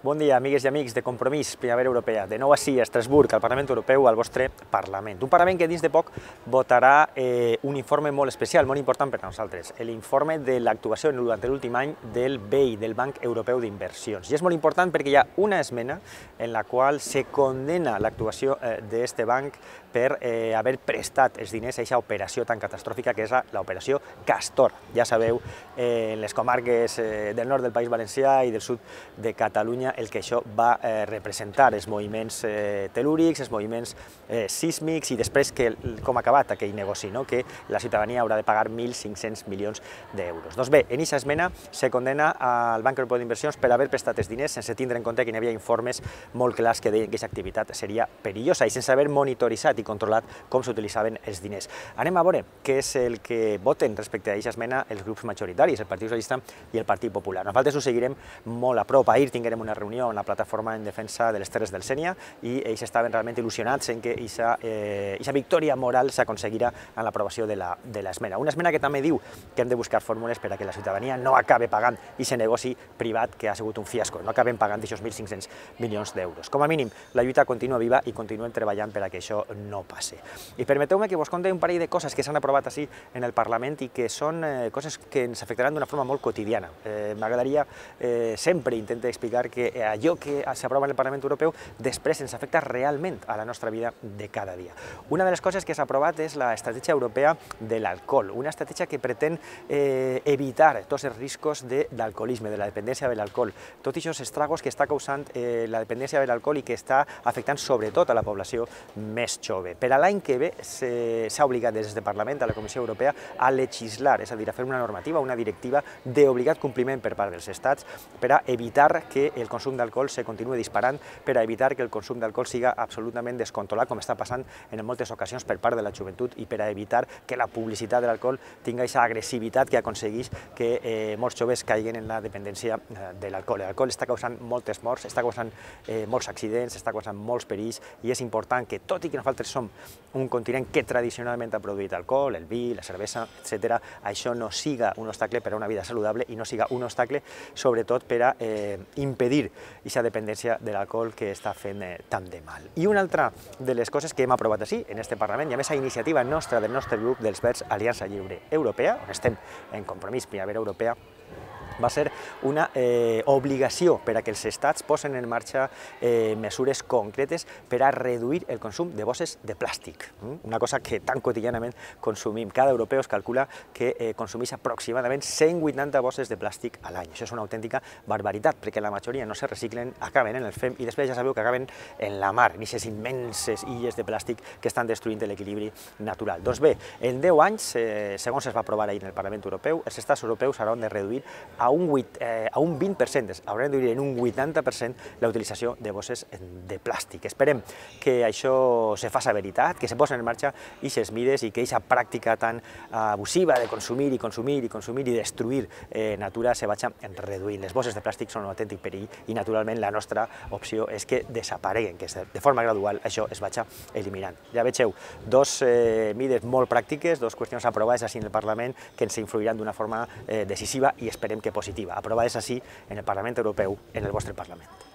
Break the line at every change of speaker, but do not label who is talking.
Bon dia, amigues i amics de Compromís Primavera Europea. De nou així, a Estrasburg, al Parlament Europeu, al vostre Parlament. Un Parlament que dins de poc votarà un informe molt especial, molt important per a nosaltres, l'informe de l'actuació durant l'últim any del BEI, del Banc Europeu d'Inversions. I és molt important perquè hi ha una esmena en la qual se condena l'actuació d'aquest banc per haver prestat els diners a aquesta operació tan catastròfica que és l'operació Castor. Ja sabeu, en les comarques del nord del País Valencià i del sud de Catalunya, el que això va representar, els moviments telúrics, els moviments sísmics i després com ha acabat aquell negoci, que la ciutadania haurà de pagar 1.500 milions d'euros. Doncs bé, en aquesta esmena se condena al Banc Europeu d'Inversions per haver prestat els diners sense tindre en compte que hi havia informes molt clars que deien que aquesta activitat seria perillosa i sense haver monitoritzat i controlat com s'utilitzaven els diners. Anem a veure què és el que voten respecte a aquesta esmena els grups majoritaris, el Partit Socialista i el Partit Popular. Nosaltres ho seguirem molt a prop. Ahir tinguérem una reunió en la plataforma en defensa de les Terres del Sénia i ells estaven realment il·lusionats en que aquesta victòria moral s'aconseguirà en l'aprovació de l'esmena. Una esmena que també diu que hem de buscar fórmules per a que la ciutadania no acabe pagant aquest negoci privat que ha sigut un fiasco, no acabem pagant aquests 1.500 milions d'euros. Com a mínim, la lluita continua viva i continuem treballant per a que això no passi. I permeteu-me que vos conti un parell de coses que s'han aprovat així en el Parlament i que són coses que ens afectaran d'una forma molt quotidiana. M'agradaria sempre intentar explicar que allò que s'aprova en el Parlament Europeu després ens afecta realment a la nostra vida de cada dia. Una de les coses que s'ha aprovat és l'estratègia europea de l'alcohol, una estratègia que pretén evitar tots els riscos de l'alcoholisme, de la dependència de l'alcohol, tots aquests estragos que està causant la dependència de l'alcohol i que està afectant sobretot a la població més jove. Per a l'any que ve s'ha obligat des del Parlament a la Comissió Europea a legislar, és a dir, a fer una normativa, una directiva d'obligat compliment per part dels estats per a evitar que el consum d'alcohol se continue disparant, per a evitar que el consum d'alcohol siga absolutament descontrolat, com està passant en moltes ocasions per part de la joventut, i per a evitar que la publicitat de l'alcohol tingui aquesta agressivitat que aconsegueix que molts joves caiguen en la dependència de l'alcohol. L'alcohol està causant moltes morts, està causant molts accidents, està causant molts perills, i és important que, tot i que nosaltres som un continent que tradicionalment ha produït alcohol, el vi, la cervesa, etc., això no siga un obstacle per a una vida saludable i no siga un obstacle, sobretot, per a impedir aquesta dependència de l'alcohol que està fent tant de mal. I una altra de les coses que hem aprovat així, en aquest Parlament, i a més a iniciativa nostra, del nostre grup dels Verds Aliança Lliure Europea, on estem en Compromís Primavera Europea, va ser una obligació per a que els estats posen en marxa mesures concretes per a reduir el consum de bosses de plàstic, una cosa que tan quotidianament consumim. Cada europeu es calcula que consumeix aproximadament 180 bosses de plàstic a l'any. Això és una autèntica barbaritat, perquè la majoria no se reciclen, acaben en el FEM i després ja sabeu que acaben en la mar, en aquestes immenses illes de plàstic que estan destruint l'equilibri natural. Doncs bé, en 10 anys, segons es va aprovar ahir en el Parlament Europeu, els estats europeus hauran de reduir a un 20%, hauran de reduir en un 80% la utilització de bosses de plàstic. Esperem que això se faci veritat, que se posen en marxa aquestes mides i que aquesta pràctica tan abusiva de consumir i consumir i consumir i destruir natura se vagi reduint. Les bosses de plàstic són un autèntic perill i, naturalment, la nostra opció és que desapareguen, que de forma gradual això es vagi eliminant. Ja vegeu, dos mides molt pràctiques, dues qüestions aprovades així en el Parlament que ens influiran d'una forma decisiva i esperem que positiva, aprovades així en el Parlament Europeu, en el vostre Parlament.